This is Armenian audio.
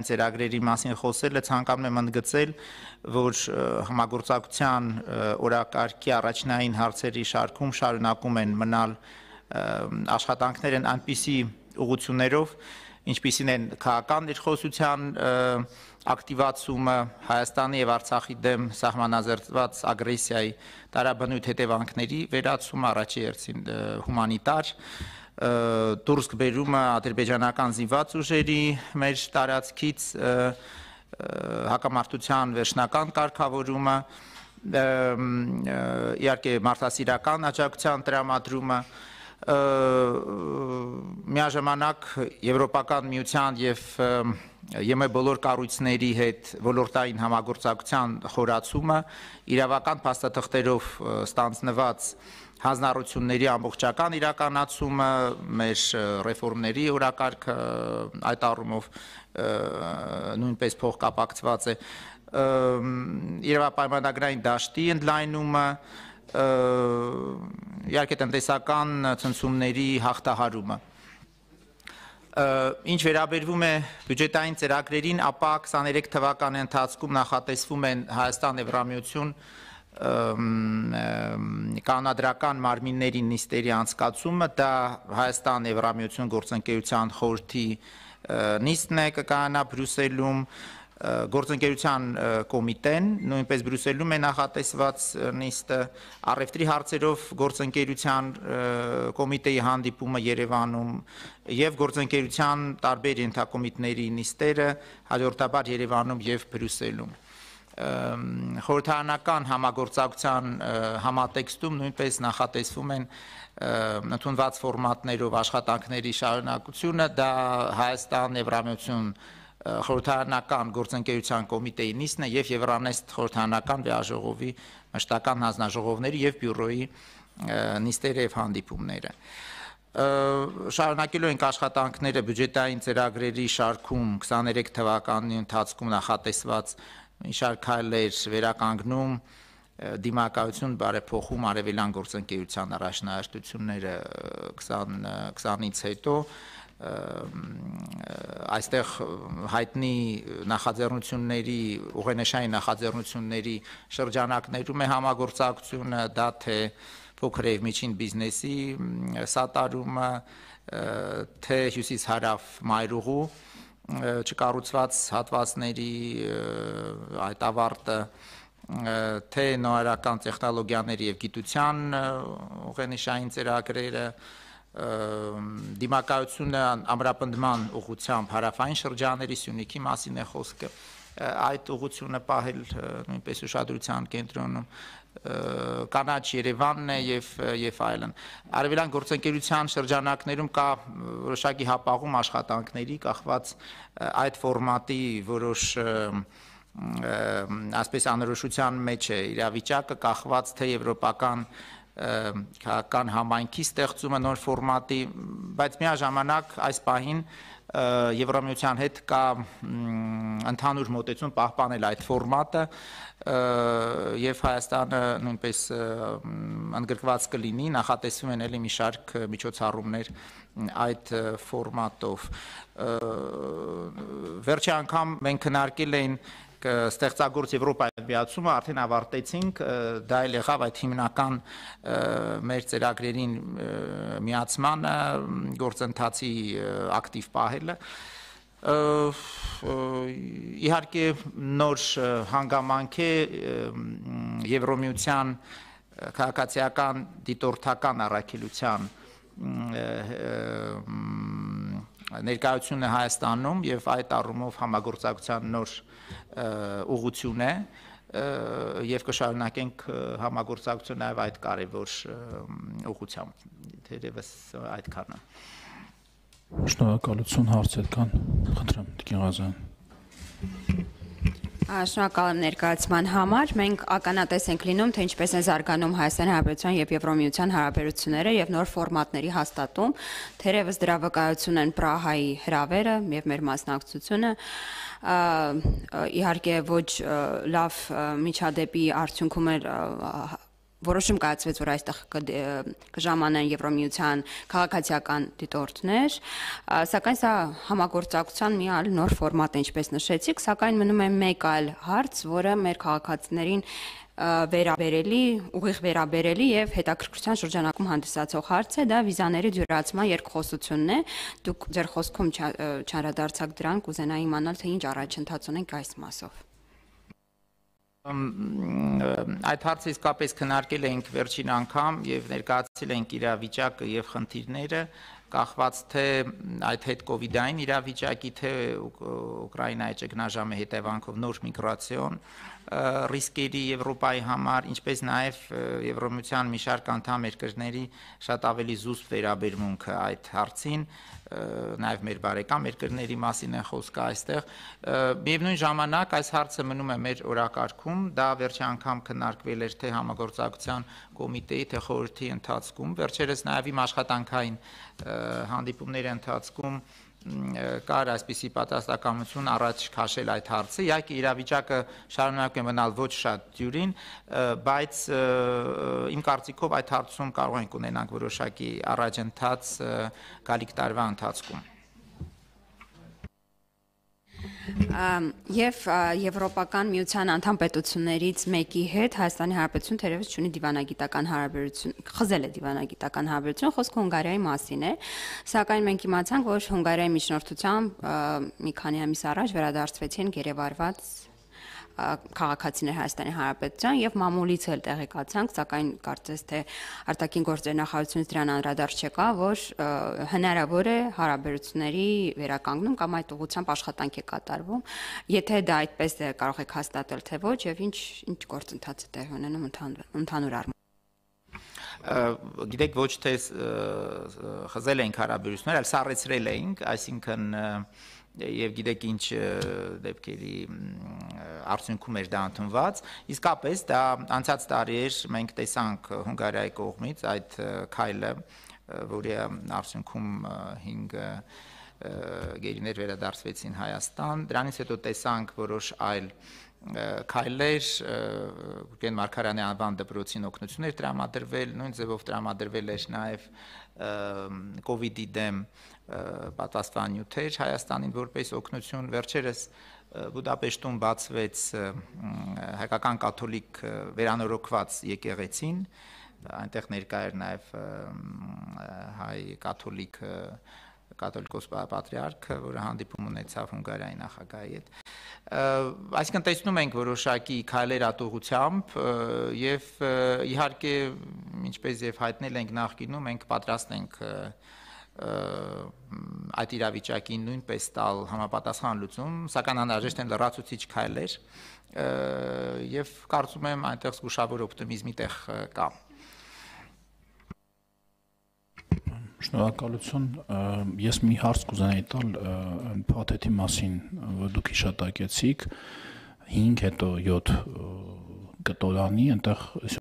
ծրագրերի մասին խոսելը ցանկանում եմ ընդգծել, որ համագործակցության օրակարգի առաջնային հարցերի շարքում շարունակում են մնալ աշխատանքներ են այնպիսի ուղղություններով, ինչպիսին են քաղաքական ներխոսության ակտիվացումը, Հայաստանի եւ Արցախի դեմ սահմանազերծված ագրեսիայի տարաբնույթ հետևանքների վերացումը, առաջի հերթին հումանիտար դուրս բերումը ադրբեջանական զինված ուժերի մեր տարածքից, հակամարտության վերջնական կարգավորումը, իհարկե մարդասիրական աջակցության տրամադրումը, միաժամանակ Եվրոպական միության եւ ԵՄ բոլոր կառույցների հետ ոլորտային համագործակցության խորացումը, իրավական փաստաթղթերով ստանձնված հանձնառությունների ամբողջական իրականացումը, մեր ռեֆորմների օրակարգը այդ առումով նույնպես փոխկապակցված է, իրավապայմանագրային դաշտի ընդլայնումը, իհարկե տնտեսական ցնցումների հաղթահարումը։ Ինչ վերաբերվում է բյուջետային ծրագրերին, ապա 23 թվականի ընթացքում նախատեսվում են Հայաստան Եվրամիություն կանոնադրական մարմինների նիստերի անցկացումը, դա Հայաստան Եվրամիություն գործընկերության խորհրդի նիստն է կկայանա Բրյուսելում, գործընկերության կոմիտեն, նույնպես Բրյուսելում է նախատեսված նիստը, առևտրի հարցերով գործընկերության կոմիտեի հանդիպումը Երևանում եւ գործընկերության տարբեր ենթակոմիտեների նիստերը հաջորդաբար Երևանում եւ Բրյուսելում։ Խորհրդարանական համագործակցության համատեքստում նույնպես նախատեսվում են ընդունված ֆորմատներով աշխատանքների շարունակությունը, դա Հայաստան Եվրամիություն խորհրդարանական գործընկերության կոմիտեի նիստն է եւ Եվրանեստ խորհրդարանական վեաժողովի մշտական հանձնաժողովների եւ բյուրոյի նիստերը եւ հանդիպումները։ Շարունակելու ենք աշխատանքները բյուջետային ծրագրերի շարքում 23 թվականի ընթացքում նախատեսված շարք քայլեր վերականգնում, դիմակայություն բարեփոխում արևելյան գործընկերության առաջնահերթությունները 20-ից հետո այստեղ հայտնի նախաձեռնությունների, ուղենշային նախաձեռնությունների շրջանակներում է համագործակցությունը, դա թե փոքր եւ միջին բիզնեսի սատարումը, թե հյուսիս-հարավ մայրուղու չկառուցված հատվածների այդ ավարտը, թե նորարարական տեխնոլոգիաների եւ գիտության ուղենիշային ծրագրերը, դիմակայությունը ամրապնդման ուղղությամբ հարավային շրջանների Սյունիքի մասին է խոսքը, այդ ուղղությունը պահել նույնպես ուշադրության կենտրոնում, կանաչ Երևանն է եւ այլն։ Արևելյան գործընկերության շրջանակներում կա որոշակի հապաղում աշխատանքների կախված այդ ֆորմատի որոշ ասպես անորոշության մեջ է իրավիճակը, կախված թե եվրոպական քաղաքական համայնքի ստեղծումը նոր ֆորմատի, բայց միաժամանակ այս պահին Եվրամիության հետ կա ընդհանուր մոտեցում պահպանել այդ ֆորմատը եւ Հայաստանը նույնպես ընդգրկված կլինի, նախատեսվում են էլի մի շարք միջոցառումներ այդ ֆորմատով։ Վերջի անգամ մենք քննարկել էին ստեղծագործ Եվրոպայի միացումը, արդեն ավարտեցինք, դա էլ եղավ այդ հիմնական մեր ծրագրերին միացմանը, գործընթացի ակտիվ պահելը։ Իհարկե նոր հանգամանք է Եվրոմիության քաղաքացիական դիտորդական առաքելության ներկայությունը Հայաստանում եւ այդ առումով համագործակցության նոր ուղղություն է եւ կշարունակենք համագործակցություն նաեւ այդ կարեւոր ուղղությամբ, թերևս այդքանը։ Շնորհակալություն, հարցեր կան, խնդրեմ Տիկին Ղազարյան։ Շնորհակալ եմ ներկայացման համար, մենք ականատես ենք լինում, թե ինչպես են զարգանում Հայաստանի Հանրապետության եւ Եվրոմիության հարաբերությունները եւ նոր ֆորմատների հաստատում, թերևս դրա վկայություն են Պրահայի հրավերը եւ մեր մասնակցությունը, իհարկե ոչ լավ միջադեպի արդյունքում էր որոշում կայացվեց, որ այստեղ կժամանեն Եվրոմիության քաղաքացիական դիտորդներ, սակայն սա համագործակցության մի այլ նոր ֆորմատ է, ինչպես նշեցիք, սակայն մնում է մեկ այլ հարց, որը մեր քաղաքացիներին ուղիղ վերաբերելի եւ հետաքրքրության շրջանակում հանդիսացող հարց է, դա վիզաների դյուրացման երկխոսությունն է։ Դուք ձեր խոսքում չանդրադարձաք դրան, կուզենայի իմանալ, թե ինչ առաջընթաց ունենք այս մասով։ Այդ հարցը իսկապես քննարկել ենք վերջին անգամ եւ ներկայացրել ենք իրավիճակը եւ խնդիրները, կախված թե այդ հետ-կովիդային իրավիճակի, թե Ուկրաինայի ճգնաժամի հետևանքով նոր միգրացիոն ռիսկերի Եվրոպայի համար, ինչպես նաև Եվրոմիության մի շարք անդամ երկրների շատ ավելի զուսպ վերաբերմունքը այդ հարցին, նաև մեր բարեկամ երկրների մասին է խոսքը այստեղ։ Միևնույն ժամանակ այս հարցը մնում է մեր օրակարգում, դա վերջի անգամ քննարկվել էր թե համագործակցության կոմիտեի, թե խորհրդի ընթացքում, վերջերս նաև իմ աշխատանքային հանդիպումների ընթացքում կար այսպիսի պատասխանատվություն առաջ քաշել այդ հարցը, իհարկե իրավիճակը շարունակում է մնալ ոչ շատ դյուրին, բայց իմ կարծիքով այդ հարցում կարող ենք ունենանք որոշակի առաջընթաց գալիք տարվա ընթացքում։ Եվ Եվրոպական միության անդամ պետություններից մեկի հետ Հայաստանի Հանրապետություն թերևս ունի դիվանագիտական հարաբերություն, խզել է դիվանագիտական հարաբերություն, խոսքը Հունգարիայի մասին է, սակայն մենք իմացանք, որ Հունգարիայի միջնորդությամբ մի քանի ամիս առաջ վերադարձվեցին գերեվարված քաղաքացիներ Հայաստանի Հանրապետության եւ մամուլից էլ տեղեկացանք, սակայն կարծես թե արտաքին գործերի նախարարությունից դրան անդրադարձ չկա, որ հնարավոր է հարաբերությունների վերականգնում կամ այդ ուղղությամբ աշխատանք է կատարվում։ Եթե դա այդպես է, կարող եք հաստատել թե ոչ եւ ինչ գործընթաց է տեղի ունենում ընդհանուր առմամբ։ Գիտեք, ոչ թե խզել ենք հարաբերություններ, այլ սառեցրել ենք, այսինքն եւ գիտեք ինչ դեպքերի արդյունքում էր դա ընդունված, իսկապես դա անցած տարի էր, մենք տեսանք Հունգարիայի կողմից այդ քայլը, որի արդյունքում 5 գերիներ վերադարձվեցին Հայաստան, դրանից հետո տեսանք որոշ այլ քայլեր, Գուրգեն Մարգարյանի անվան դպրոցին օգնություններ տրամադրվել, նույն ձևով տրամադրվել էր նաև կովիդի դեմ պատասխաննյութեր Հայաստանին որպես օգնություն, վերջերս Բուդապեշտում բացվեց հայկական կաթոլիկ վերանորոգված եկեղեցին, այնտեղ ներկա էր նաև հայ կաթոլիկոս պատրիարքը, որը հանդիպում ունեցավ Հունգարիայի նախագահի հետ։ Այսինքն տեսնում ենք որոշակի քայլեր ատողությամբ եւ իհարկե ինչպես եւ հայտնել ենք նախկինում, մենք պատրաստ ենք այդ իրավիճակին նույնպես տալ համապատասխան լուծում, սակայն անհրաժեշտ են լրացուցիչ քայլեր եւ կարծում եմ այնտեղ զգուշավոր օպտիմիզմի տեղ կա։ Շնորհակալություն, ես մի հարց կուզենայի տալ փաթեթի մասին, որ դուք հիշատակեցիք 5 հետո 7 կտորանի, այնտեղ